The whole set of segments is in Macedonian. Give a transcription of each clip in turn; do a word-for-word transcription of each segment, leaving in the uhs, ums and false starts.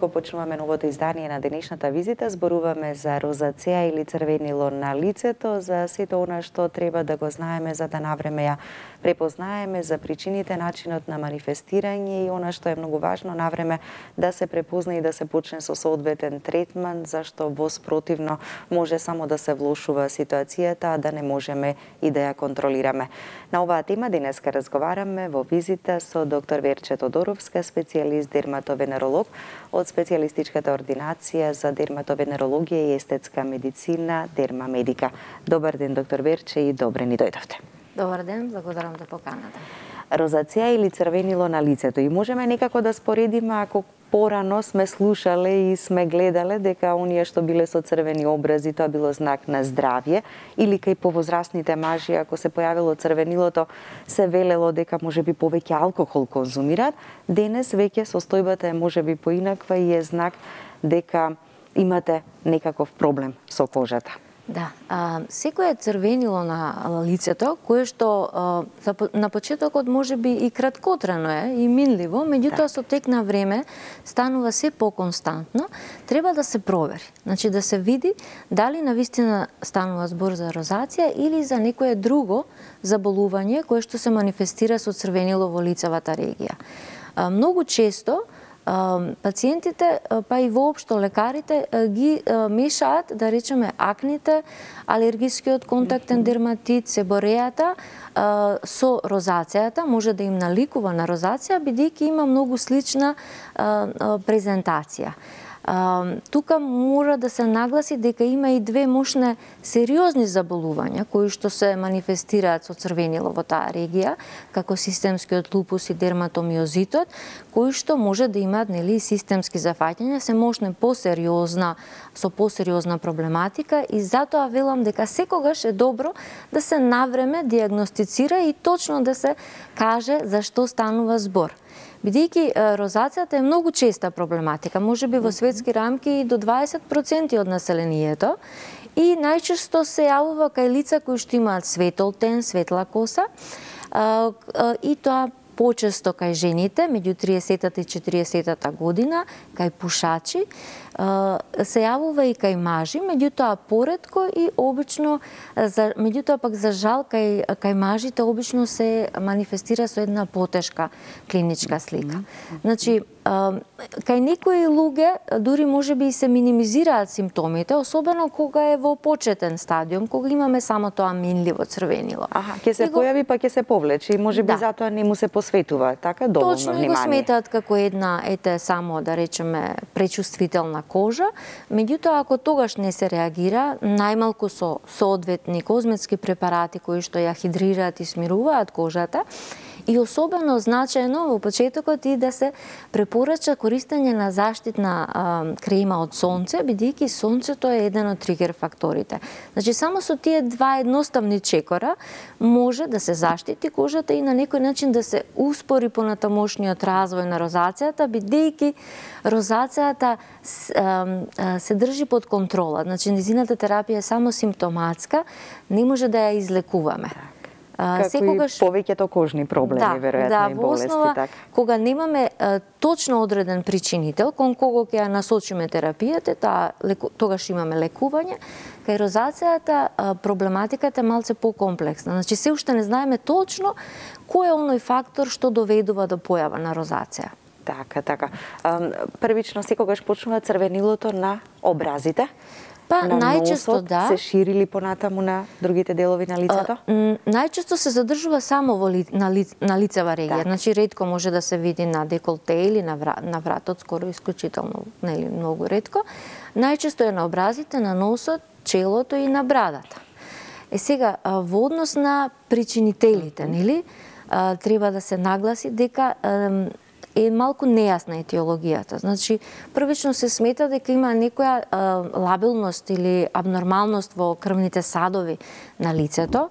го почнуваме новото издание на денешната визита, зборуваме за розацеа или црвенило на лицето, за сето она што треба да го знаеме за да навреме ја препознаеме, за причините, начинот на манифестирање и она што е многу важно навреме да се препозна и да се почне со соодветен третман, зашто во спротивно може само да се влошува ситуацијата, а да не можеме и да ја контролираме. На оваа тема денеска разговараме во визита со доктор Верче Тодоровска, специјалист дерматовенеролог од специјалистичката ординација за дерматовенерологија и естетска медицина Дермамедика. Добар ден, доктор Верче, и добре ни дојдовте. Добар ден, благодарам за поканата. Розацеа или црвенило на лицето. И можеме некако да споредиме ако порано сме слушале и сме гледале дека оние што биле со црвени образи, тоа било знак на здравје, или кај повозрастните мажи, ако се појавило црвенилото, се велело дека можеби повеќе алкохол конзумираат. Денес веќе состојбата е можеби поинаква и е знак дека имате некаков проблем со кожата. Да, а, секој е црвенило на лицето, кое што а, на почетокот можеби и краткотрено е и минливо, меѓутоа со тек на време станува се поконстантно, треба да се провери. Значи да се види дали навистина станува збор за розација или за некое друго заболување кое што се манифестира со црвенило во лицевата регија. А, многу често пациентите, па и воопшто лекарите ги мешаат, да речеме, акните, алергискиот контактен дерматит, себорејата со розацијата, може да им наликува на розација, бидејќи има многу слична презентација. Uh, тука мора да се нагласи дека има и две мощни сериозни заболувања кои што се манифестираат со црвенило во таа регија, како системскиот лупус и дерматомиозитот, кои што може да имаат нели системски зафаќања, се мощни посериозна со посериозна проблематика и затоа велам дека секогаш е добро да се навреме дијагностицира и точно да се каже за што станува збор. Бидејќи розацијата е многу честа проблематика, можеби во светски рамки и до дваесет проценти од населението, и најчесто се јавува кај лица кои што имаат светол тен, светла коса, и тоа почесто кај жените, меѓу триесетата и четириесетата година, кај пушачи, се јавува и кај мажи, меѓутоа поретко и обично, меѓутоа пак за жал кај, кај мажите обично се манифестира со една потешка клиничка слика. Значи, кај некои луѓе дури можеби и се минимизираат симптомите, особено кога е во почетен стадиум, кога имаме само тоа минливо црвенило. Аха, ќе се го... појави па ќе се повлече и можеби да. Затоа не му се посветува така доволно Точно, внимание. Точно, и го сметаат како една, ете, само да речеме пречувствителна кожа, меѓутоа ако тогаш не се реагира, најмалку со соодветни козметски препарати кои што ја хидрираат и смируваат кожата, и особено значајно во почетокот и да се препорача користење на заштитна а, крема од сонце, бидејќи сонцето е еден од тригер факторите. Значи само со тие два едноставни чекора може да се заштити кожата и на некој начин да се успори понатамошниот развој на розацијата, бидејќи розацијата се држи под контрола. Значи незината терапија е само симптоматска, не може да ја излекуваме. Како секогаш... и повеќето кожни проблеми, да, веројатно, да, и болести. Основа, така. Кога немаме а, точно одреден причинител, кон кого ќе ја насочиме терапијата, таа, леку, тогаш имаме лекување. Кај розацијата а, проблематиката е малце покомплексна. Значи, се уште не знаеме точно кој е оној фактор што доведува до појава на розација. Така, така. А, првично секогаш почнува црвенилото на образите. Па, на најчесто носот, да. се шири ли понатаму на другите делови на лицето? А, најчесто се задржува само во ли, на, ли, на лицева регија. Так. Значи ретко може да се види на деколте или на, вра, на вратот, скоро исклучително, нели, многу ретко. Најчесто е на образите, на носот, челото и на брадата. Е сега, во однос на причинителите, нели, треба да се нагласи дека е малку нејасна етиологијата. Значи, првично се смета дека има некоја а, лабилност или абнормалност во крвните садови на лицето,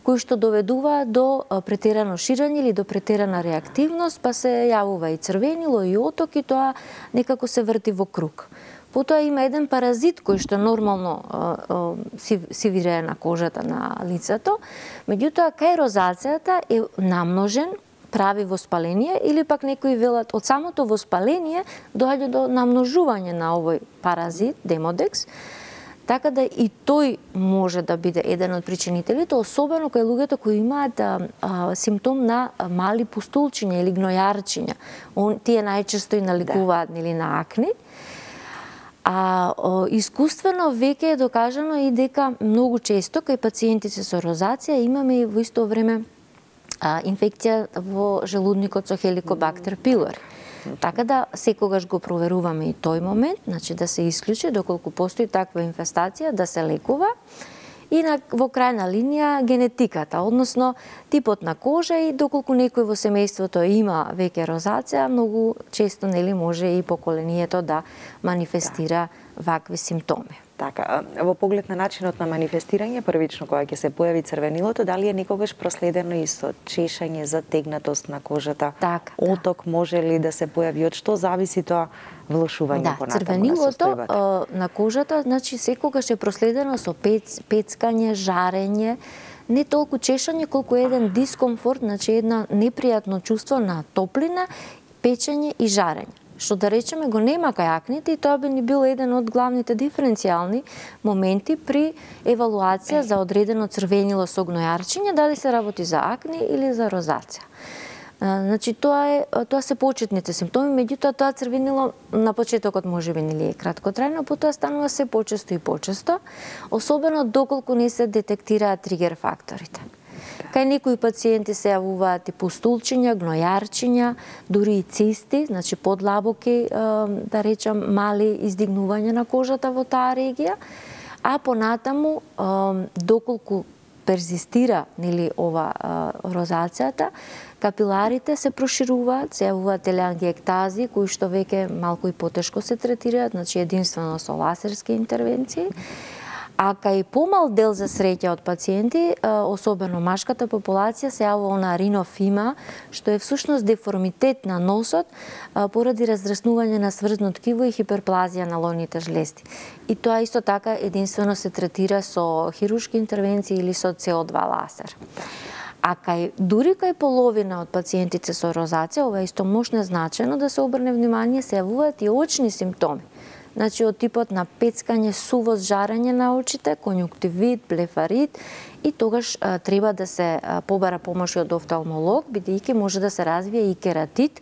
кои што доведува до претерано ширење или до претерана реактивност, па се јавува и црвенило и оток и тоа некако се врти во круг. Потоа има еден паразит кој што нормално а, а, си, си вирее на кожата на лицето, меѓутоа кај розацијата е намножен прави воспаление, или пак некои велат од самото воспаление доаѓа до намножување на овој паразит, демодекс, така да и тој може да биде еден од причинителите, особено кај луѓето кои имаат а, а, симптом на мали пустулчиња или гнојарчиња. Он, тие најчесто и наликуваат да. нели на акни. А о, искуствено веќе е докажано и дека многу често кај пациентите со розација имаме и во исто време а, инфекција во желудникот со Helicobacter pylori. Така да секогаш го проверуваме и тој момент, значи да се исклучи доколку постои таква инфестација, да се лекува. И на, во крајна линија генетиката, односно типот на кожа и доколку некој во семејството има веќе розација, многу често нели може и поколението да манифестира да. вакви симптоми. Така, во поглед на начинот на манифестирање, првично кога ќе се појави црвенилото, дали е некогаш проследено и со чешање, затегнатост на кожата, така, оток да. може ли да се појави, од што зависи тоа влошување да, понатаму црвенилото на состојбата? на кожата, значи секогаш е проследено со пец, пецкање, жарење, не толку чешање колку еден дискомфорт, значи една непријатно чувство на топлина, печење и жарење. Што да речеме го нема кај акните и тоа би ни бил еден од главните диференцијални моменти при евалуација за одредено црвенило со гнојарчиње, дали се работи за акни или за розација. Значи тоа е тоа се почетните симптоми, меѓутоа тоа црвенило на почетокот можеби нели е краткотрајно, потоа станува се почесто и почесто, особено доколку не се детектираат тригер факторите. Кај некои пациенти се јавуваат и пустулчиња, гнојарчиња, дури и цисти, значи подлабоки, да речам, мали издигнувања на кожата во таа регија, а понатаму, доколку перзистира нели ова розацијата, капиларите се прошируваат, се јавуваат телеангиектази, кои што веќе малку и потешко се третираат, значи единствено со лазерски интервенции. А кај помал дел за среќа од пациенти, особено машката популација, се јавува она ринофима, што е всушност деформитет на носот поради разраснување на сврзно ткиво и хиперплазија на лоните жлезди. И тоа исто така единствено се третира со хируршки интервенции или со С О два лазер. А кај дури кај половина од пациентите со розација, ова е исто мощно значено да се обрне внимание, се јавуваат и очни симптоми. Значи од типот на пецкање, сувост, жарење на очите, конјуктивит, блефарит, и тогаш а, треба да се а, побара помош од офталмолог, бидејќи може да се развие и кератит,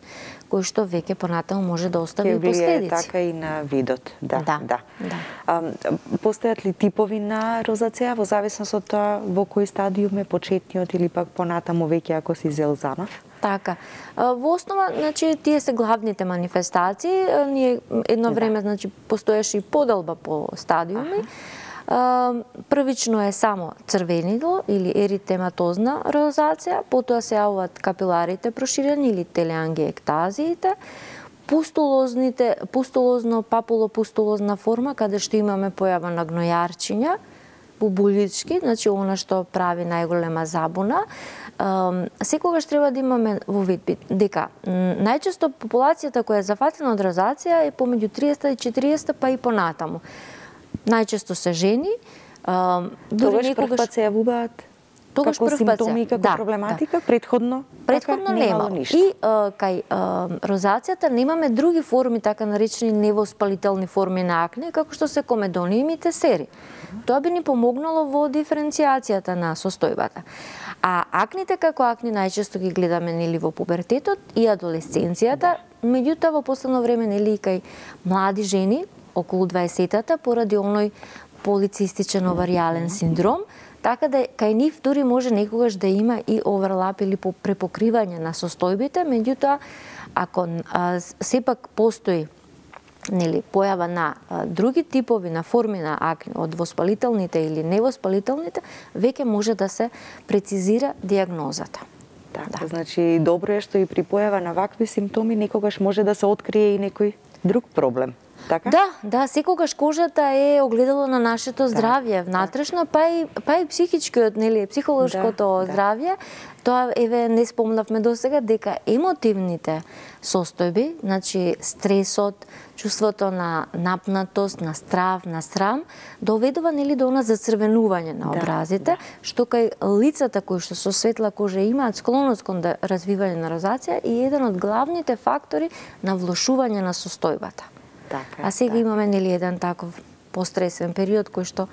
кој што веќе понатаму може да остави и последици. Така и на видот. Да, да. да. да. А, постојат ли типови на розација во зависност од тоа во кој стадиум е почетниот или пак понатаму веќе ако си зел занав? Така. Во основа, значи, тие се главните манифестации. Ние едно време, да. значи, постоеше и поделба по стадиуми. Ага. Првично е само црвенило или еритематозна розација, потоа се јавуваат капиларите проширени или телеангиектазиите, пустулозните, пустулозно папулопустулозна форма, каде што имаме појава на гнојарчиња, бубулички, значи она што прави најголема забуна. Секогаш треба да имаме во вид дека најчесто популацијата која е зафатена од розација е помеѓу триесет и четириесет па и понатаму. Најчесто се жени. Тогаш некогаш... прв пат се јавуваат Тогаш како симптоми и како да, проблематика, да. предходно? Предходно така, нема. И а, кај а, розацијата немаме други форми, така наречени невоспалителни форми на акне, како што се комедониумите сери. Тоа би ни помогнало во диференцијацијата на состојбата. А акните како акни најчесто ги гледаме нели во пубертетот и адолесценцијата, меѓутоа во последно време нели и кај млади жени околу дваесетата поради оној полицистичен оваријален синдром, така да кај нив дури може некогаш да има и оверлап или препокривање на состојбите, меѓутоа ако а, сепак постои нели појава на а, други типови на форми на акне од воспалителните или невоспалителните, веќе може да се прецизира диагнозата. Така, да. Значи добро е што и при појава на вакви симптоми некогаш може да се открие и некој друг проблем. така? Да, да, секогаш кожата е огледало на нашето здравје, внатрешно, па и па и психичкиот, нели, психолошкото да, здравје. Тоа еве не спомнавме досега дека емотивните состојби, значи стресот, чувството на напнатост, на страв, на срам, доведува нели до она зацрвенување на образите, да, да. Што кај лицата кои што со светла кожа имаат склоност кон да развивање на розација и еден од главните фактори на влошување на состојбата. Така, а сега да. имаме нели еден таков постресен период кој што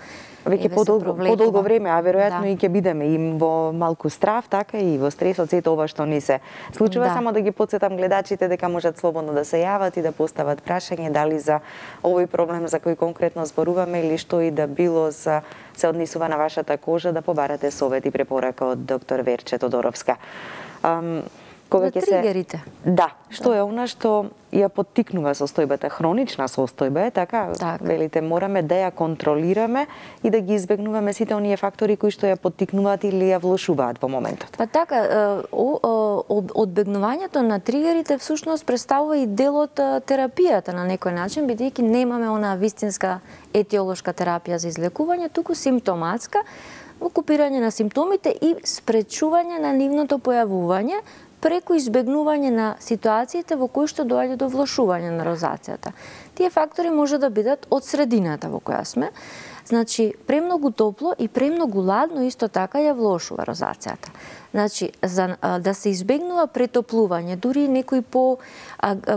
веќе подолго, подолго време, а веројатно да. и ќе бидеме и во малку страв, така и во стресот, сето ова што ни се случува, да. Само да ги потсетам гледачите дека можат слободно да се јават и да постават прашање дали за овој проблем за кој конкретно зборуваме или што и да било за се однесува на вашата кожа, да побарате совет и препорака од доктор Верче Тодоровска. Um, Кога за тригерите. Се... Да, што да. Е она што ја поттикнува состојбата, хронична состојба е, така? Так. Велите, мораме да ја контролираме и да ги избегнуваме сите оние фактори кои што ја поттикнуваат или ја влошуваат во моментот. Па така, одбегнувањето на тригерите всушност представува и дел од терапијата на некој начин, бидејќи немаме онаа вистинска етиолошка терапија за излекување, туку симптоматска, окупирање на симптомите и спречување на нивното појавување преку избегнување на ситуациите во кои што доаѓа до влошување на розацијата. Тие фактори може да бидат од средината во која сме, значи премногу топло и премногу ладно исто така ја влошува розацијата. Значи, за да се избегнува претоплување, дури и некои по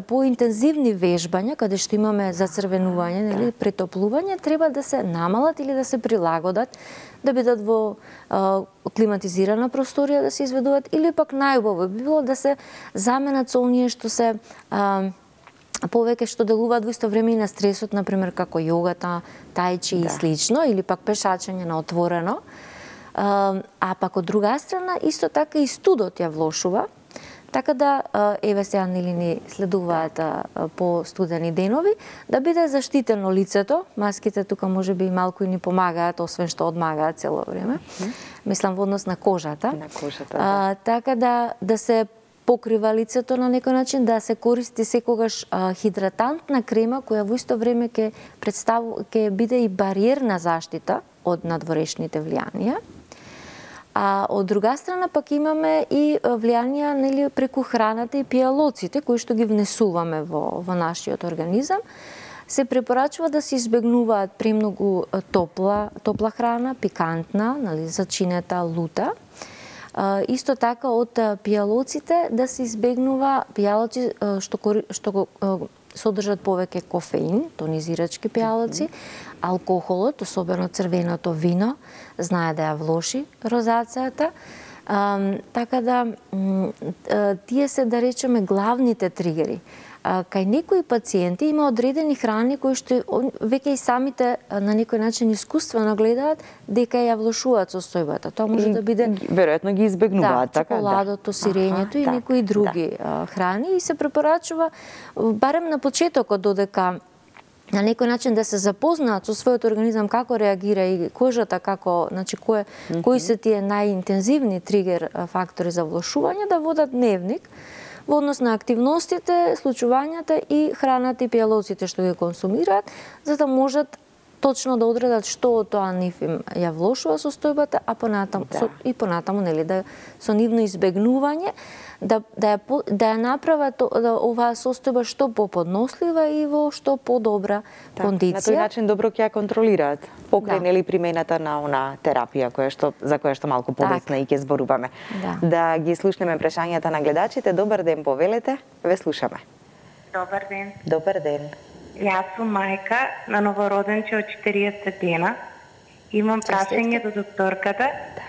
поинтензивни вежбања, каде што имаме зацрвенување, нели, претоплување, треба да се намалат или да се прилагодат, да бидат во а, климатизирана просторија да се изведуваат, или пак најубаво би било да се заменат со оние што се а, повеќе што делуваат во исто време и на стресот, например како јогата, тајчи да. И слично, или пак пешачење на отворено. А, а пак од друга страна, исто така и студот ја влошува, така да, еве сега нели ни следуваат по студени денови, да биде заштитено лицето. Маските тука може би и малку и ни помагаат, освен што одмагаат цело време. Mm-hmm. Мислам во однос на кожата. На кожата, да. А, така да, да се покрива лицето на некој начин, да се користи секогаш а, хидратантна крема која во исто време ќе представува, ќе биде и бариерна заштита од надворешните влијанија. А од друга страна пак имаме и влијанија, нели, преку храната и пијалоците кои што ги внесуваме во во нашиот организам. Се препорачува да се избегнуваат премногу топла топла храна, пикантна, нели, зачинета, лута. А, исто така од пијалоците да се избегнува пијалоци што што содржат повеќе кофеин, тонизирачки пијалоци, алкохолот, особено црвеното вино, знае да ја влоши розацијата. А, така да, тие се, да речеме, главните тригери. А, кај некои пациенти има одредени храни кои што веќе и самите на некој начин искуствено гледаат дека ја влошуваат состојбата. Тоа може и, да биде веројатно ги избегнуваат, да, така, чоколадото, да. сирењето и да, некои други да. храни, и се препорачува барем на почетокот додека на некој начин да се запознаат со својот организам како реагира и кожата како, значи кој mm-hmm. кои се тие најинтензивни тригер фактори за влошување, да водат дневник во однос на активностите, случувањата и храната и пијалоците што ги консумираат, за да можат точно да одредат што од тоа нив им ја влошува состојбата, а понатаму да. со, и понатаму, нели, да со нивно избегнување да да ја да ја направат да, оваа состојба што поподнослива и во што подобра да, кондиција. На тој начин добро ќе ја контролираат покрај, да. нели, примената на она терапија која што за која што малку подесна и ќе зборуваме. Да. Да ги слушнеме прашањата на гледачите. Добар ден, повелете, ве слушаме. Добар ден. Добар ден. Јас сум мајка на новороденче од четириесет дена. Имам прашање до докторката.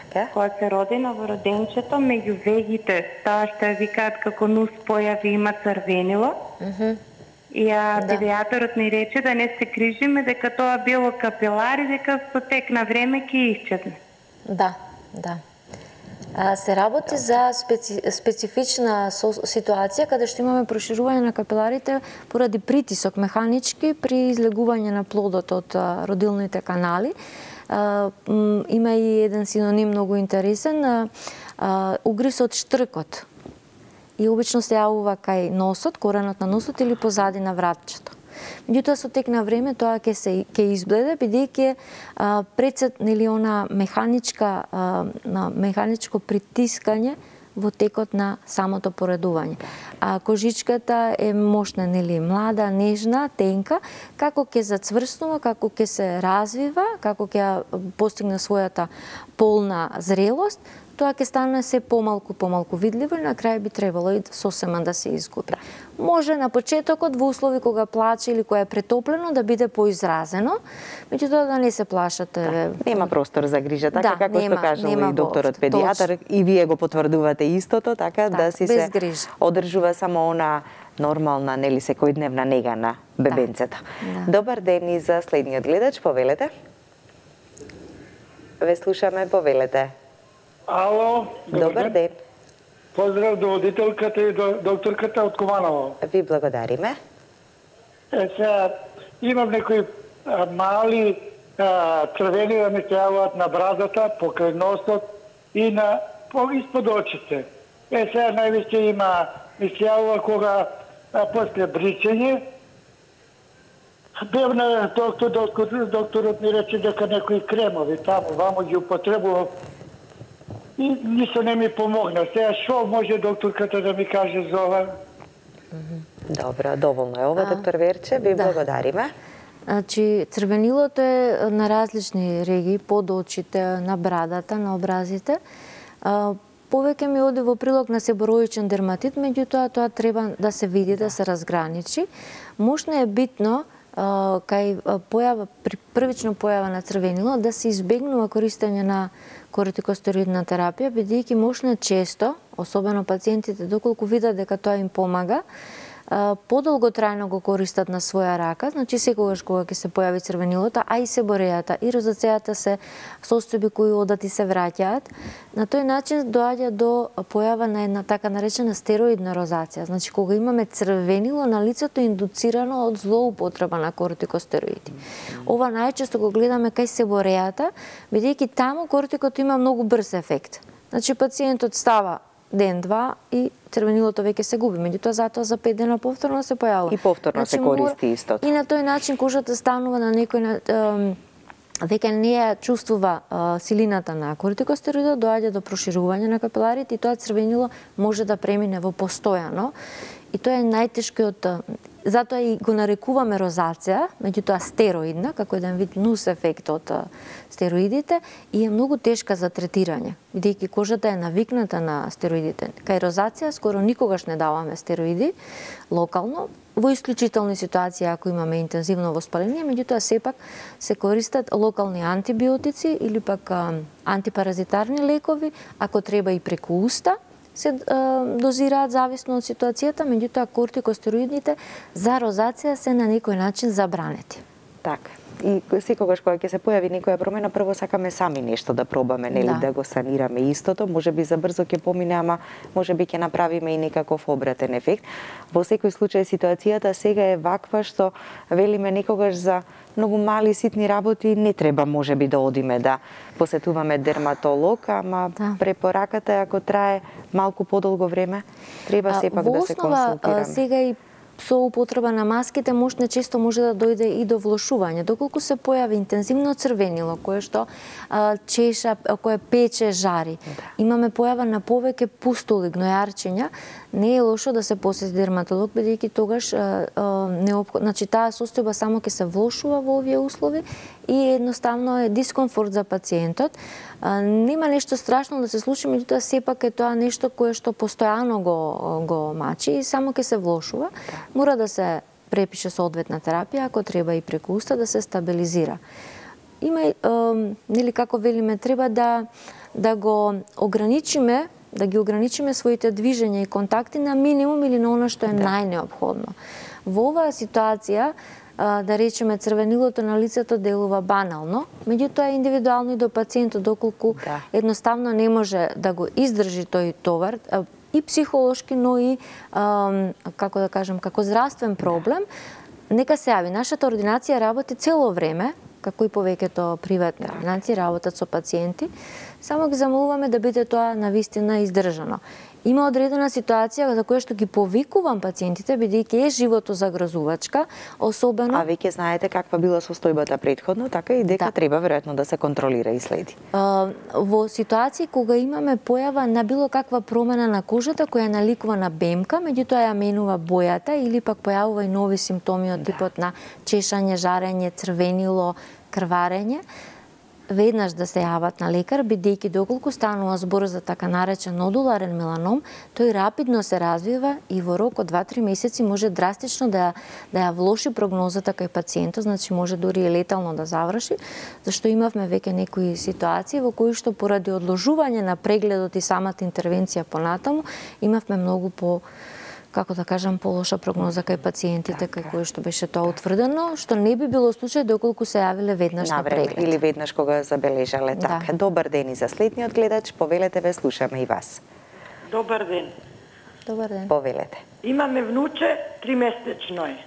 Така. Кога се роди новороденчето, меѓу вегите, тоа што ја викаат како нус појави, има црвенило. Mm -hmm. И а, да. Педијатарот ни рече да не се крижиме, дека тоа било капилари, дека со тек на време ќе исчезне. Да, да. А, се работи за специ, специфична ситуација каде што имаме проширување на капиларите поради притисок механички при излегување на плодот од а, родилните канали. А, м, има и еден синоним многу интересен, а, а, угриз од штркот. И обично се јавува кај носот, коренот на носот или позади на вратчето. Меѓутоа со тек на време тоа ќе се ќе избледе, бидејќи прецет нели она механичка на механичко притискање во текот на самото поредување. А кожичката е мощна, нели, млада, нежна, тенка, како ќе зацврснува, како ќе се развива, како ќе постигне својата полна зрелост, тоа ќе стане се помалку помалку видливо и на крај би требало и сосема да се изгуби. Може на почетокот во услови кога плаче или кога е претоплено да биде поизразено, меѓутоа да не се плашате. Да, нема простор за грижа, така да, како нема, што кажал и докторот педијатар, и вие го потврдувате истото, така да, да си се грижа. Одржува само она нормална, нели, секојдневна нега на бебенцето. Да. Да. Добар ден и за следниот гледач, повелете. Ве слушаме, повелете. Ало, добар ден. Поздрав до водителката и до докторката од Кованово. Ви благодариме. Е, сега, имам некои а, мали а, црвени да ми се јавуваат на брадата, покрај носот и на по испод очите. Е, сега највише има, ми се јавува кога а, после бричење. Бев на доктор, доктор, докторот ми рече дека некои кремови таму, вамо ги употребував. И ништо не ми помогна. Сега шо може докторката да ми каже за ова? Добро, доволно е ова, доктор Верче, ви да. благодариме. Значи, црвенилото е на различни регии, под очите, на брадата, на образите. Повеќе ми оди во прилог на себороичен дерматит, меѓутоа тоа треба да се види, да, да се разграничи. Можно е битно кај појава, при првично појава на црвенило, да се избегнува користење на кортикостероидна терапија, бидејќи можно често, особено пациентите, доколку видат дека тоа им помага, подолготрајно го користат на своја рака, значи секогаш кога ќе се појави црвенилото, а и себорејата и розацејата се состојби кои одат и се враќаат, на тој начин доаѓа до појава на една така наречена стероидна розација. Значи кога имаме црвенило на лицето индуцирано од злоупотреба на кортикостероиди. Ова најчесто го гледаме кај себорејата, бидејќи таму кортикот има многу брз ефект. Значи пациентот става ден-два и црвенилото веќе се губи, меѓутоа затоа за пет дена повторно се појавува. И повторно значи, се користи истото. И на тој начин кожата станува на некој веќе не ја чувствува а, силината на кортикостероидот, доаѓа до проширување на капиларите и тоа црвенило може да премине во постојано. И тоа е најтешкиот, затоа и го нарекуваме розација, меѓутоа стероидна, како еден вид нус ефект од стероидите, и е многу тешка за третирање, бидејќи кожата е навикната на стероидите. Кај розација скоро никогаш не даваме стероиди локално, во исклучителни ситуации ако имаме интензивно воспаление, меѓутоа сепак се користат локални антибиотици или пак антипаразитарни лекови, ако треба и преку уста, се дозираат зависно од ситуацијата, меѓутоа кортикостероидните за розација се на некој начин забранети. Така. И секогаш кога ќе се појави некоја промена, прво сакаме сами нешто да пробаме, нели, да, да го санираме истото, можеби за брзо ќе помине, ама можеби ќе направиме и некаков обратен ефект. Во секој случај ситуацијата сега е ваква што велиме некогаш за многу мали ситни работи не треба можеби да одиме да посетуваме дерматолог, ама да. Препораката е ако трае малку подолго време, треба сепак да се консултираме. Во основа сега и со употреба на маските можне често може да дојде и до влошување. Доколку се појави интензивно црвенило, кое што а, чеша, кое пече, жари, да. Имаме појава на повеќе пустули, гнојарчиња, не е лошо да се посети дерматолог, бидејќи тогаш а, а, неопход... значи таа состојба само ќе се влошува во овие услови и едноставно е дискомфорт за пациентот. А, нема нешто страшно да се случи, меѓутоа сепак е тоа нешто кое што постојано го го мачи и само ќе се влошува. Мора да се препише соодветна терапија, ако треба и преку уста да се стабилизира. Има е, нели како велиме, треба да да го ограничиме, да ги ограничиме своите движења и контакти на минимум или на она што е да. Најнеопходно. Во оваа ситуација, да речеме, црвенилото на лицето делува банално, меѓутоа индивидуално и до пациентот, доколку да. Едноставно не може да го издржи тој товар, и психолошки, но и, како да кажем, како здравствен проблем, нека се јави. Нашата ординација работи цело време, како и повеќето приватни ординации работат со пациенти, само ги замолуваме да биде тоа навистина издржано. има одредена ситуација за која што ги повикувам пациентите, бидејќи е животозагрозувачка, особено... А веќе знаете каква била состојбата претходно, така и дека да. Треба веројатно да се контролира и следи. А, во ситуации кога имаме појава на било каква промена на кожата која наликува на бемка, меѓутоа ја менува бојата или пак појавува и нови симптоми од типот да. На чешање, жарење, црвенило, крварење, веднаш да се јават на лекар, бидејќи доколку станува збор за така наречен нодуларен меланом, тој рапидно се развива и во рок од два-три месеци може драстично да, да ја влоши прогнозата кај пациентот, значи може дури и летално да заврши, зашто имавме веќе некои ситуации во кои што поради одложување на прегледот и самата интервенција понатаму, имавме многу по како да кажам, полоша прогноза кај пациентите, така. Кај кои што беше тоа утврдено, што не би било случај доколку се јавиле веднаш на преглед. Или веднаш кога забележале. Да. Така, добар ден и за следниот гледач, повелете ве, слушаме и вас. Добар ден. Добар ден. Повелете. Имаме внуче, тримесечно е.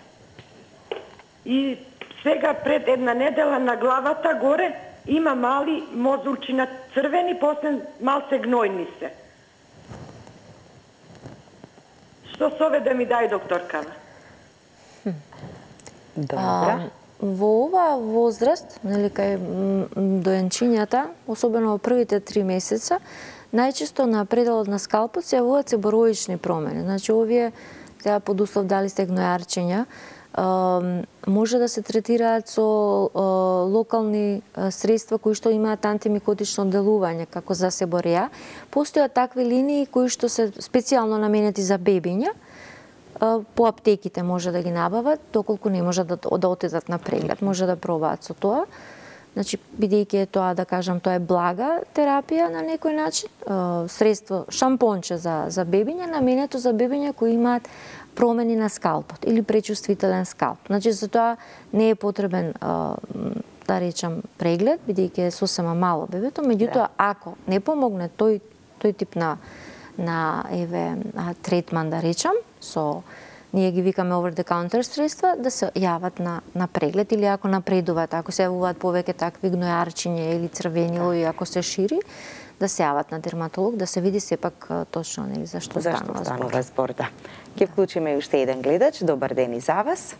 И сега пред една недела на главата горе има мали мозулчи на црвени, после малце гнојни се. Што сове да ми дај докторкава? Добра. Во ова возраст, нели кај доенчињата, особено во првите три месеца, најчесто на пределот на скалпот се јавуваат себороични промени. Значи овие сега под услов дали се гнојарчења, може да се третираат со локални средства кои што имаат антимикотично делување, како за себореја. Постојат такви линии кои што се специјално наменети за бебиња. По аптеките може да ги набават, доколку не може да, да отидат на преглед, може да пробаат со тоа. Значи, бидејќи е тоа, да кажам, тоа е блага терапија на некој начин, средство, шампонче за, за бебиња, наменето за бебиња кои имаат промени на скалпот или пречувствителен скалп. Значи, за тоа не е потребен, да речам, преглед, бидејќи е сосема мало бебето, меѓутоа, ако не помогне тој, тој тип на, на еве, третман, да речам, со ние ги викаме over the counter средства, да се јават на, на преглед или ако напредуваат, ако се јавуваат повеќе такви гнојарчиња или црвенило и ако се шири, да се јават на дерматолог, да се види сепак точно нели зашто станува збор. Зашто збор, да. Ќе вклучиме уште еден гледач. Добар ден и за вас.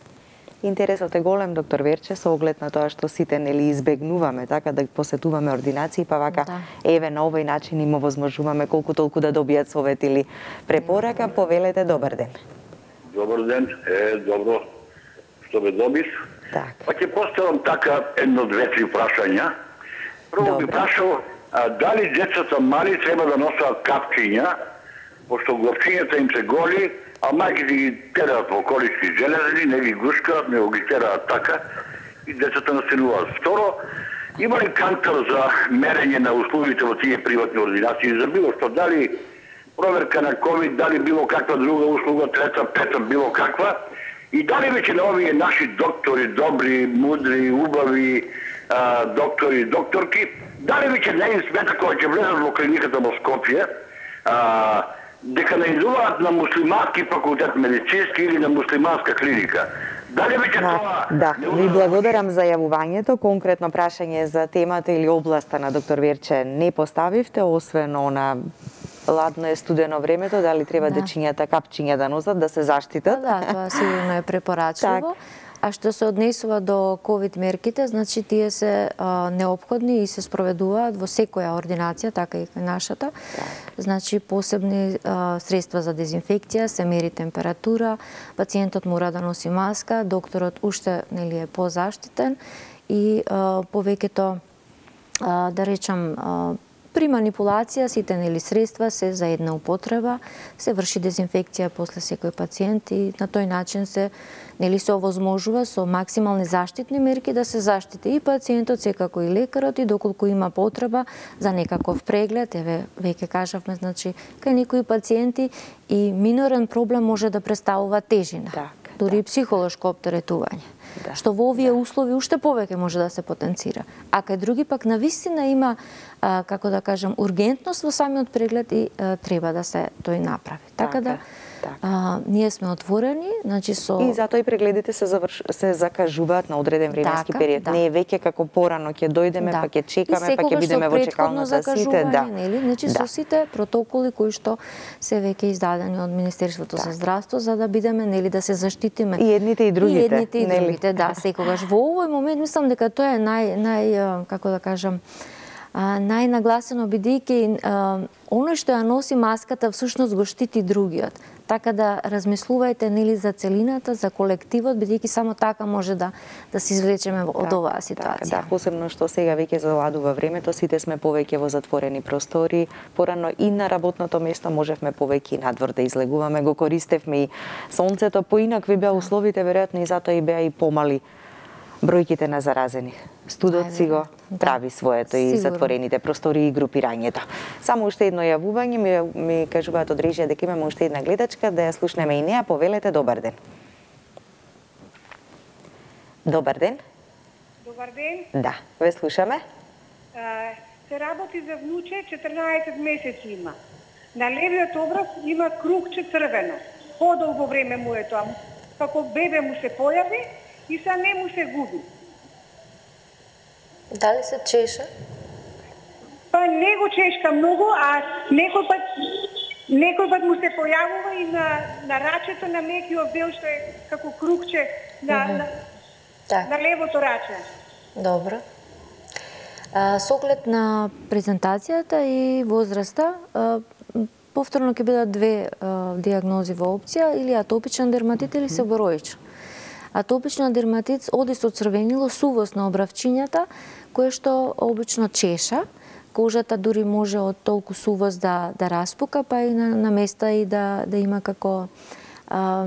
Интересот е голем, доктор Верче, со оглед на тоа што сите нели избегнуваме така да посетуваме ординации, па вака да. Еве на овој начин им овозможуваме колку толку да добијат совет или препорака. Повелете, добар ден. Добар ден, е, добро што ме добиш. Так. Па ќе поставам така едно-две-три прашања. Прво би прашал, а, дали децата мали треба да носат капчиња, пошто главчињата им се голи, а мајките ги тераат во колички железни, не ги гушкаат, не ги тераат така, и децата настануваат. Второ, има ли кантар за мерење на условите во тие приватни ординации, за било што, дали проверка на ковид, дали било каква друга услуга, трета, пета, било каква, и дали веќе на овие наши доктори, добри, мудри, убави а, доктори, докторки, дали веќе не им смета кога ќе влезат во клиниката во Скопје, а, дека не идуваат на муслимански факултет медицински или на муслиманска клиника. Дали веќе тоа... Да, ви благодарам за јавувањето. Конкретно прашање за темата или областа на доктор Верче не поставивте, освен на ладно е студено времето, дали треба да. Дечињата капчиња да носат, да се заштитат? Да, да, тоа сигурно е препорачливо. А што се однесува до ковид мерките, значи тие се а, неопходни и се спроведуваат во секоја ординација, така и нашата. Да. Значи посебни а, средства за дезинфекција, се мери температура, пациентот мора да носи маска, докторот уште нели е позаштитен и а, повеќето а, да речам а, при манипулација сите нели средства се за една употреба, се врши дезинфекција после секој пациент и на тој начин се нели се овозможува со максимални заштитни мерки да се заштити и пациентот, секако и лекарот, и доколку има потреба за некаков преглед, еве веќе кажавме, значи кај некои пациенти и минорен проблем може да представува тежина, так, дури и так. психолошко оптеретување. Да. Што во овие услови уште повеќе може да се потенцира. А кај други пак навистина има а, како да кажам, ургентност во самиот преглед и а, треба да се тој направи. Така, така да така. А, ние сме отворени, значи со И затоа и прегледите се заврш... се закажуваат на одреден временски така, период. Да. Не е веќе како порано ќе дојдеме, да. па ќе чекаме, па ќе бидеме во чекалната сите, да. Нели? Значи да. со сите протоколи кои што се веќе издадени од Министерството так. за здравство за да бидеме, нели, да се заштитиме. И едните и другите. И едните и нели? другите, да, секогаш. Во овој момент мислам дека тоа е нај нај како да кажам најнагласено, бидејќи оној што ја носи маската всушност го штити другиот. Така да размислувајте, нели, за целината, за колективот, бидејќи само така може да да се извлечеме од так, оваа ситуација. Так, да, посебно што сега веќе заладува времето, сите сме повеќе во затворени простори, порано и на работното место можевме повеќе и надвор да излегуваме, го користевме и сонцето, поинакви беа условите, веројатно и затоа и беа и помали бројките на заразени. Студот си го прави своето и затворените простори и групирањето. Само уште едно јавување, ми, ми кажуваат од режија дека имаме уште една гледачка, да ја слушнеме и неа. Повелете, добар ден. Добар ден. Добар ден. Да, ве слушаме. А, се работи за внуче, четрнаесет месеци има. На левиот образ има кругче црвено. Подолго време му е тоа. Како бебе му се појави и са не му се губи. Дали се чеша? Па не го чешка многу, а некој пат некој пат му се појавува и на на рачето на мекиот дел што е како кругче на mm -hmm. на, так. на левото раче. Добро. А, со оглед на презентацијата и возраста, а, повторно ќе бидат две а, диагнози во опција, или атопичен дерматит или себороичен. Атопичен дерматит оди со црвенило, сувост на обравчињата, кое што обично чеша. Кожата дури може од толку сувост да да распука, па и на, на места и да да има како а,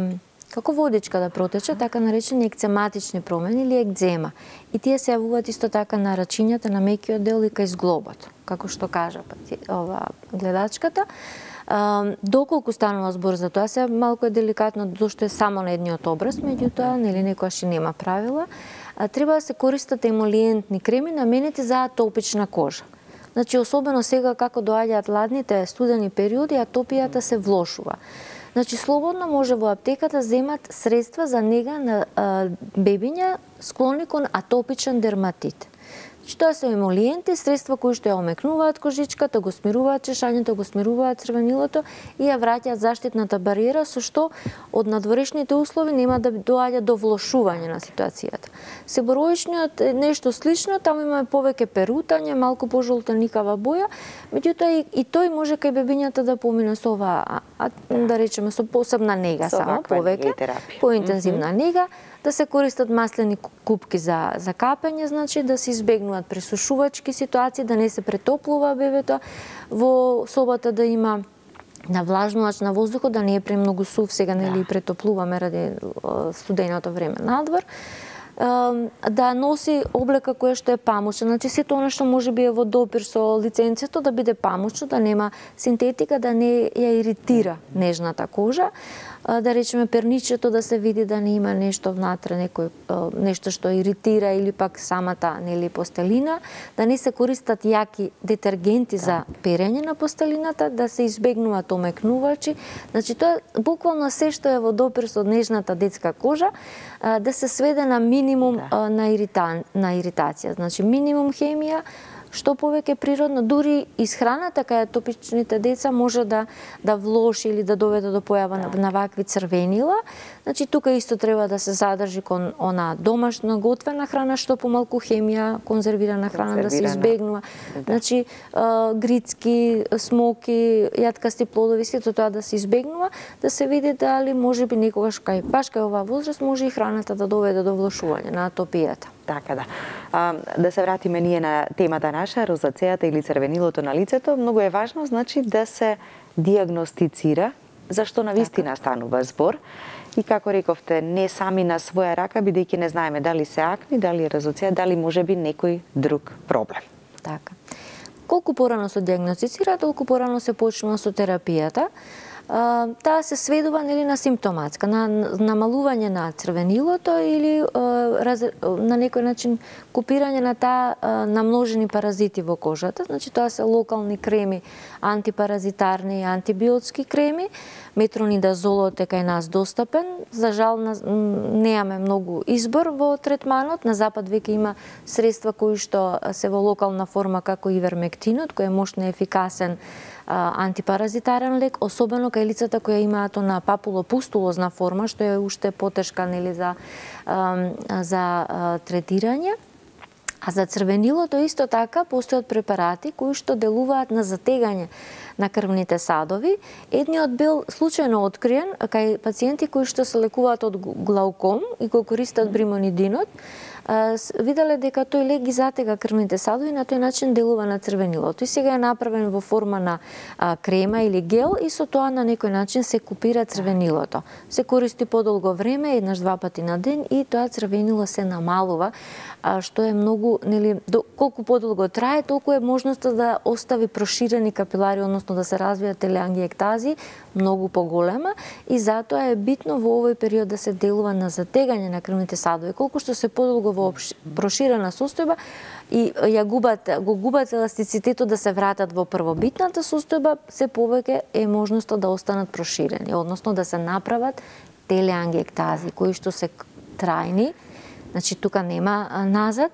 како водичка да протече, така наречени екцематични промени или екзема. И тие се јавуваат исто така на рачињата, на мекиот дел и кај зглобот, како што кажа ова гледачката. А, доколку станува збор за тоа, се малку е деликатно зашто е само на едниот образ, меѓутоа нели некојаш и нема правила. А, треба да се користат емолиентни креми наменети за атопична кожа. Значи особено сега како доаѓаат ладните студени периоди, атопијата се влошува. Значи слободно може во аптеката земат средства за нега на а, бебиња склони кон атопичен дерматит. Тоа се емолиенти, средства кои што ја омекнуваат кожичката, го смируваат чешањето, го смируваат црвенилото и ја враќаат заштитната бариера, со што од надворешните услови нема да доаѓа до влошување на ситуацијата. Себороичниот е нешто слично, таму имаме повеќе перутање, малку пожолтеникава боја, меѓутоа и, и тој може кај бебињата да помине со ова, а, да речеме со посебна нега, со само повеќе, поинтензивна mm -hmm. нега, да се користат маслени купки за за капење, значи да се избегнуваат пресушувачки ситуации, да не се претоплува бебето во собата, да има навлажнувач на воздухот, да не е премногу сув, сега нели да. Претоплуваме ради студеното време надвор. Да носи облека која што е памучна, значи сето она што може би е во допир со лиценцето да биде памучно, да нема синтетика, да не ја иритира нежната кожа. Да речеме перничето да се види да не има нешто внатре, некој нешто што иритира или пак самата нели постелина, да не се користат јаки детергенти за перење на постелината, да се избегнуваат омекнувачи. Значи тоа буквално се што е во допир со нежната детска кожа да се сведе на минимум да. на ирита... на иритација. Значи минимум хемија, што повеќе природно, дури исхраната кај атопичните деца може да да влоши или да доведе до појава да. на вакви црвенила. Значи тука исто треба да се задржи кон она домашна готвена храна, што помалку хемија, конзервирана храна да се избегнува. Да. Значи а, грицки, смоки, јаткасти плодови, сето тоа да се избегнува, да се види дали можеби некогаш кај баш кај оваа возраст може и храната да доведе до влошување на атопијата. Така да. А, да се вратиме ние на темата наша, розацејата или црвенилото на лицето, многу е важно, значи, да се диагностицира, зашто на вистина станува збор. И како рековте, не сами на своја рака, бидејќи не знаеме дали се акни, дали е розацеја, дали може би некој друг проблем. Така. Колку порано се диагностицира, толку порано се почнува со терапијата. таа се сведува нели на симптоматска, на намалување на црвенилото или раз, на некој начин купирање на таа намножени паразити во кожата. Значи тоа се локални креми, антипаразитарни и антибиотски креми. Метронидазолот е кај нас достапен. За жал неаме многу избор во третманот. На запад веќе има средства кои што се во локална форма како ивермектинот, кој е мощно ефикасен антипаразитарен лек, особено кај лицата кои имаат на папулопустулозна форма, што е уште потешка нели за за третирање. А за црвенилото исто така постојат препарати кои што делуваат на затегање на крвните садови. Едниот бил случајно откриен кај пациенти кои што се лекуваат од глауком и го користат бримонидинот. Виделе дека тој лек ги затега крвните садови и на тој начин делува на црвенилото. И сега е направен во форма на а, крема или гел и со тоа на некој начин се купира црвенилото. Се користи подолго време, еднаш два пати на ден и тоа црвенило се намалува, а, што е многу, нели, до, колку подолго трае, толку е можноста да остави проширени капилари, односно да се развијат телеангиектази, многу поголема и затоа е битно во овој период да се делува на затегање на крвните садови. Колку што се подолго во проширена состојба и ја губат, го губат еластицитетот да се вратат во првобитната состојба, се повеќе е можноста да останат проширени, односно да се направат телеангиектази кои што се трајни, значи тука нема назад.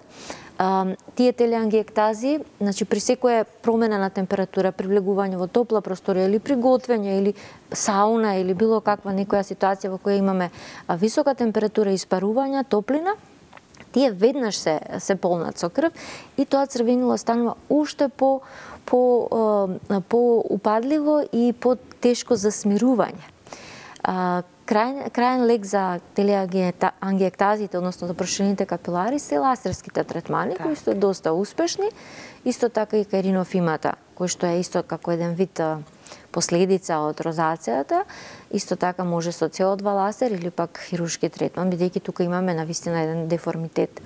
Uh, тие телеангиектази, значи при секоја промена на температура, при влегување во топла просторија или при готвење или сауна или било каква некоја ситуација во која имаме висока температура и испарување, топлина, тие веднаш се се полнат со крв и тоа црвенило станува уште по по по упадливо и по тешко за смирување. Uh, Крај, крајен лек за телеангиектазите, односно за проширените капилари, се лазерските третмани, кои се доста успешни. Исто така и кај ринофимата, кој што е исто како еден вид последица од розацијата. Исто така може со С О два лазер или пак хируршки третман, бидејќи тука имаме навистина еден деформитет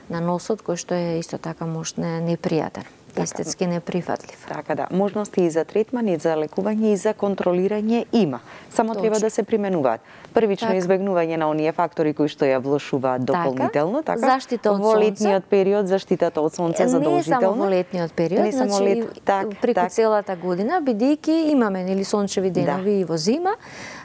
на носот, кој што е исто така можно непријатен. Естетски неприфатлив. Така да, можности и за третман, и за лекување, и за контролирање има. Само Точно. Треба да се применуваат. Првично така. Избегнување на оние фактори кои што ја влошуваат дополнително, така? Заштита од во летниот период, заштитата од сонце задолжително. Не само во летниот период, не само значи лет... так, преку так. целата година, бидејќи имаме нели сончеви денови да. И во зима,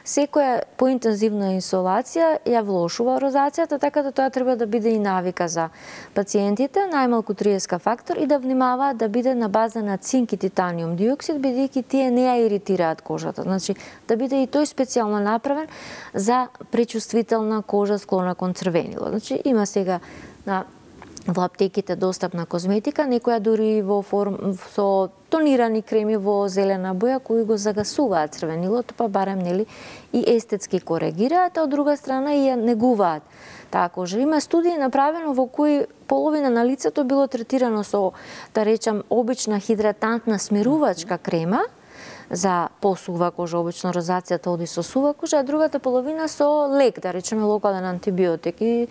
секоја поинтензивна инсолација ја влошува розацијата, така да тоа треба да биде и навика за пациентите, најмалку триесет фактор и да внимаваат да биде на база на цинк и титаниум диоксид, бидејќи тие не ја иритираат кожата. Значи, да биде и тој специјално направен за пречувствителна кожа склона кон црвенило. Значи, има сега на во аптеките достапна козметика, некоја дури во форм со тонирани креми во зелена боја кои го загасуваат црвенилото, па барем нели и естетски коригираат, а од друга страна и ја негуваат таа кожа. Има студии направено во кои половина на лицето било третирано со, да речам, обична хидратантна смирувачка крема за посува кожа, обично розацијата оди со сува кожа, а другата половина со лек, да речеме локален антибиотик. И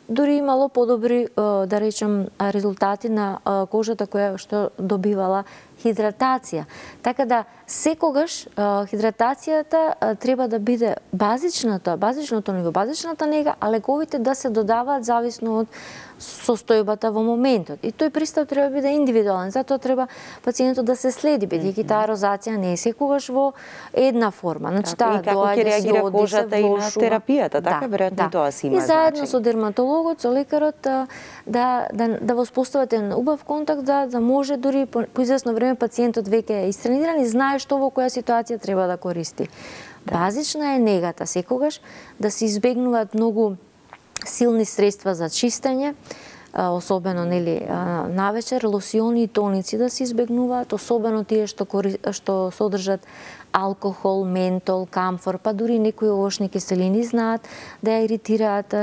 дури имало подобри, да речем, резултати на кожата која што добивала хидратација. Така да секогаш хидратацијата треба да биде базичната, базичното ниво, базичната нега, а лековите да се додаваат зависно од состојбата во моментот. И тој пристап треба да биде индивидуален, затоа треба пациентот да се следи, бидејќи таа розација не е секогаш во една форма. Значи таа доаѓа си оди кожата и на терапијата, така веројатно тоа си има. И заедно со дерматологот, со лекарот да да да воспостават еден убав контакт, да да може дури по, по известно време пациентот веќе е истрениран и знае што во која ситуација треба да користи. Базична е негата секогаш да се избегнуваат многу силни средства за чистење, особено нели навечер, лосиони и тоници да се избегнуваат, особено тие што кори, што содржат алкохол, ментол, камфор, па дури некои овошни киселини знаат да ја иритираат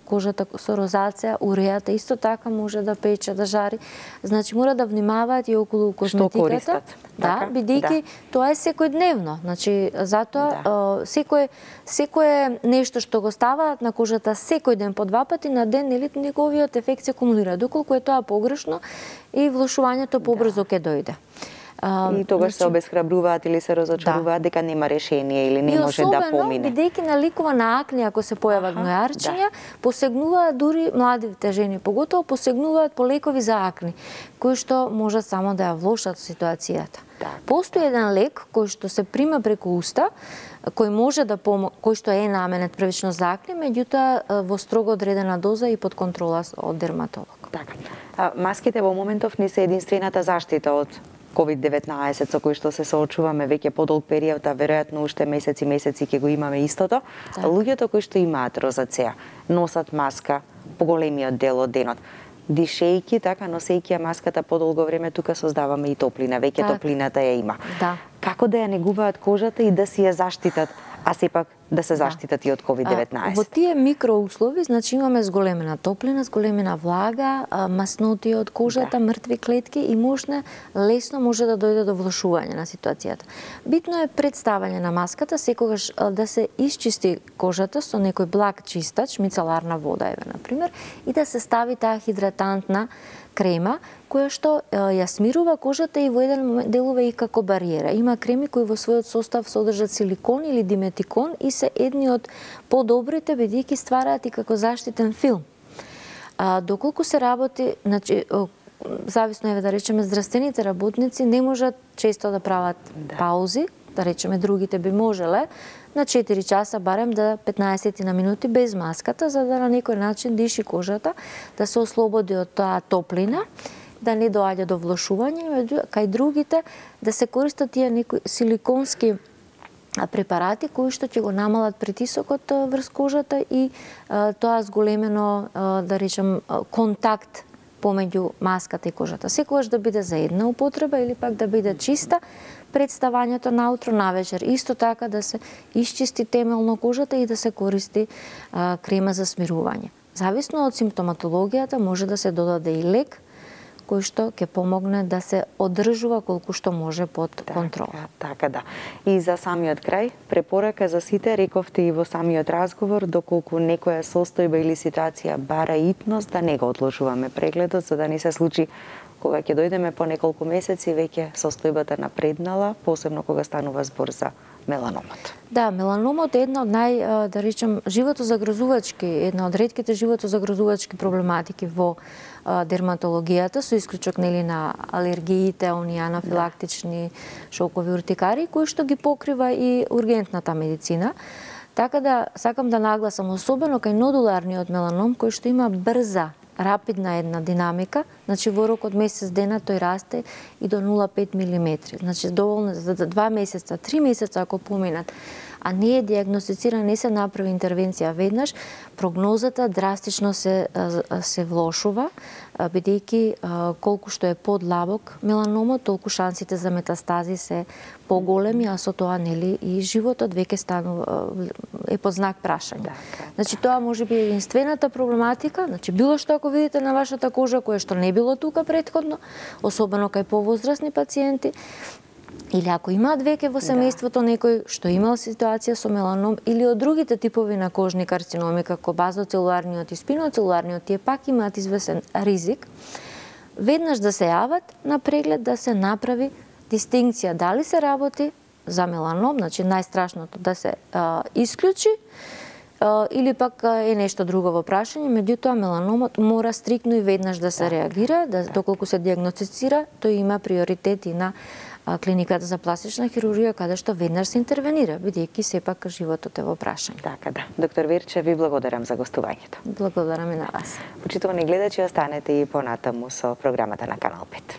кожата со розација, урејата исто така може да пече, да жари. Значи мора да внимаваат и околу козметиката. Да, бидејќи да. Тоа е секојдневно. Значи затоа да. секој секое нешто што го ставаат на кожата секој ден по два пати на ден, нели неговиот ефект се кумулира. Доколку е тоа погрешно и влошувањето побрзо ќе дојде. И тогаш се обесхрабруваат или се разочаруваат дека нема решение или не може да помине. И особено, бидејќи наликува на акне, ако се појават гнојарчиња, посегнуваат дури младите жени, поготово посегнуваат по лекови за акне, кои што можат само да ја влошат ситуацијата. Постои еден лек кој што се прима преку уста, кој може да помо... кој што е наменет првично за акне, меѓутоа во строго одредена доза и под контрола од дерматолог. Така. А, маските во моментов не се единствената заштита од ковид деветнаесет со кој што се соочуваме веќе подолг период, а веројатно уште месеци месеци ќе го имаме истото. Да. Луѓето кои што имаат розацеа носат маска поголемиот дел од денот. Дишејќи, така, носејќи ја маската подолго време, тука создаваме и топлина, веќе так. Топлината ја има. Да. Како да ја негуваат кожата и да си ја заштитат, а сепак да се заштитат да. И од ковид деветнаесет? Во тие микроуслови, значи имаме зголемена топлина, зголемена влага, масноти од кожата, да. Мртви клетки и можна, лесно може да дојде до влошување на ситуацијата. Битно е представање на маската, секогаш да се исчисти кожата со некој благ чистач, мицеларна вода, еве, например, и да се стави таа хидратантна крема, која што ја смирува кожата и во еден момент делува и како бариера. Има креми кои во својот состав содржат силикон или диметикон и се едни од подобрите, бидејќи ствараат и како заштитен филм. А, доколку се работи, значи, зависно е да речеме, здравствените работници не можат често да прават да. Паузи, да речеме другите би можеле, на четири часа барем да петнаесет на минути без маската, за да на некој начин диши кожата, да се ослободи од таа топлина, да не доаѓа до влошување, кај другите да се користат тие некои силиконски препарати кои што ќе го намалат притисокот врз кожата и а, тоа зголемено, а, да речем, контакт помеѓу маската и кожата. Секогаш да биде за една употреба или пак да биде чиста, представањето наутро, навечер. Исто така да се исчисти темелно кожата и да се користи а, крема за смирување. Зависно од симптоматологијата може да се додаде и лек кој што ќе помогне да се одржува колку што може под контрола. Така, така да. И за самиот крај, препорака за сите, рековте и во самиот разговор, доколку некоја состојба или ситуација бара итност, да не го одложуваме прегледот, за да не се случи кога ќе дојдеме по неколку месеци, веќе состојбата напреднала, посебно кога станува збор за меланомот. Да, меланомот е една од нај, да речем, животозагрозувачки, една од ретките животозагрозувачки проблематики во дерматологијата, со исклучок нели на алергиите, оние анафилактични шокови уртикари, кои што ги покрива и ургентната медицина. Така да сакам да нагласам особено кај нодуларниот меланом, кој што има брза, рапидна една динамика, значи во рок од месец дена тој расте и до нула целу пет милиметри. Значи доволно за два месеца, три месеца ако поминат, а не е диагностициран, не се направи интервенција веднаш, прогнозата драстично се се влошува, бидејќи колку што е подлабок меланомот, толку шансите за метастази се поголеми, а со тоа нели и животот веќе станува е под знак прашање. Значи тоа може би единствената проблематика, значи било што ако видите на вашата кожа кое што не било тука претходно, особено кај повозрасни пациенти, или ако имаат веќе во семејството некој што имал ситуација со меланом или од другите типови на кожни карциноми како базоцелуларниот и спиноцелуларниот, тие пак имаат извесен ризик, веднаш да се јават на преглед да се направи дистинкција дали се работи за меланом, значи најстрашното да се а, исклучи, а, или пак е нешто друго во прашање, меѓутоа меланомот мора стриктно и веднаш да се реагира, да доколку се диагностицира, тој има приоритет и на клиниката за пластична хирургија, каде што веднаш се интервенира, бидејќи сепак животот е во прашање. Така да. Доктор Верче, ви благодарам за гостувањето. Благодарам и на вас. Почитувани гледачи, останете и понатаму со програмата на Канал пет.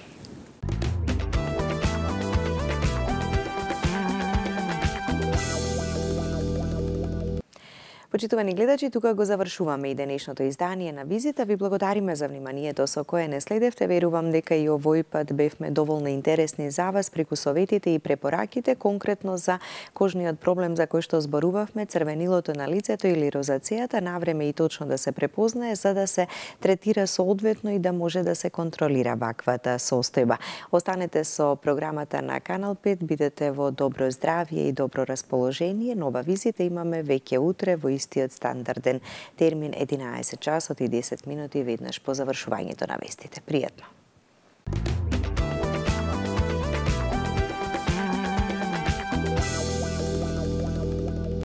Почитувани гледачи, тука го завршуваме и денешното издание на Визита. Ви благодариме за вниманието со кое не следевте. Верувам дека и овој пат бевме доволно интересни за вас преку советите и препораките, конкретно за кожниот проблем за кој што зборувавме, црвенилото на лицето или розацејата, навреме и точно да се препознае, за да се третира соодветно и да може да се контролира ваквата состојба. Останете со програмата на Канал пет, бидете во добро здравје и добро расположение. Нова Визита имаме веќе утре во истиот стандарден термин единаесет часот и десет минути веднаш по завршувањето на вестите. Пријатно!